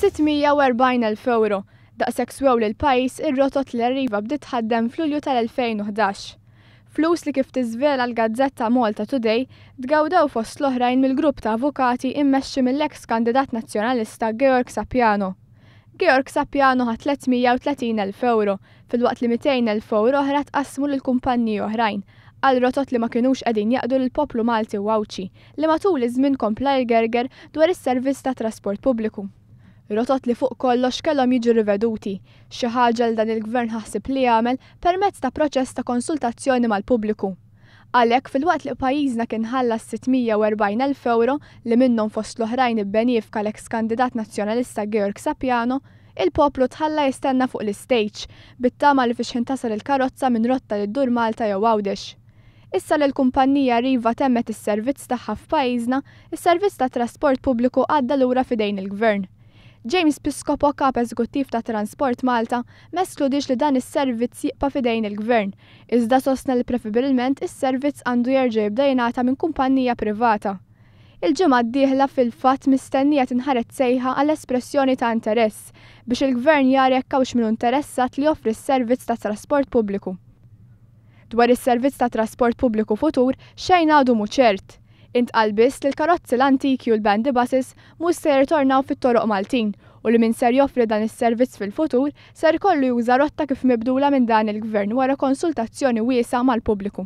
640,000 ewro, daqshekk swew lill-pajjiż ir-rotot li Arriva bdiet tħaddem f'Lulju tal-2011. Flus li kif tiżvela l-gazzetta Malta Today, tgawdew fost l-oħrajn mill-grupp ta' avukati immexxi mill-eks kandidat Nazzjonalista Georg Sapiano. Georg Sapiano ħa 330,000 ewro, filwaqt li 200,000 ewro oħra tqassmu lil kumpanniji oħrajn, għal rotot li ma kinux qegħdin jaqdu lill-poplu Malti u Għawdxi, li matul iż-żmien kompla jgerger dwar is-servizz tat-trasport pubbliku. Rotot li fuq kollox kellhom jiġu riveduti, xi ħaġa li dan il-Gvern ħa ħsieb li jagħmel permezz ta' proċess ta' konsultazzjoni mal-pubbliku. Għalhekk, filwaqt li pajjiżna kien ħallas 640,000 ewro li minnhom fost l-oħrajn ibbenifika l-eks kandidat Nazzjonalista Georg Sapiano, il-poplu tħalla jistenna fuq l-istejġ, bit-tama li fi xħin tasal il-karozza minn rotta li ddur Malta jew Għawdex. Issa li l-kumpannija Arriva temmet is-servizz tagħha f'pajjiżna, is-servizz tat-trasport pubbliku għadda lura f'idejn il-Gvern. James Piscopo, Kap Eżekuttiv ta' Transport Malta, ma eskludiex li dan is-servizz jibqa' f'idejn il-Gvern, iżda sostna li prefibbilment is-servizz għandu jerġa' jibda jingħata minn kumpannija privata. Il-ġimgħa d-dieħla fil-fatt mistennija tinħareġ sejħa għal espressjoni ta' interess biex il-Gvern jara jekk hawnx min hu interessat li joffri s-servizz tat-trasport pubbliku. Dwar is-servizz ta' trasport pubbliku futur, xejn għadu mhu ċert. Intqal biss li l-karozzi l-antiki u l-bandy buses mhux se jirritornaw fit-toroq Maltin u li min ser joffri dan is-servizz fil-futur ser ikollu juża rotta kif mibdula minn dan il-Gvern wara konsultazzjoni wiesgħa mal-pubbliku.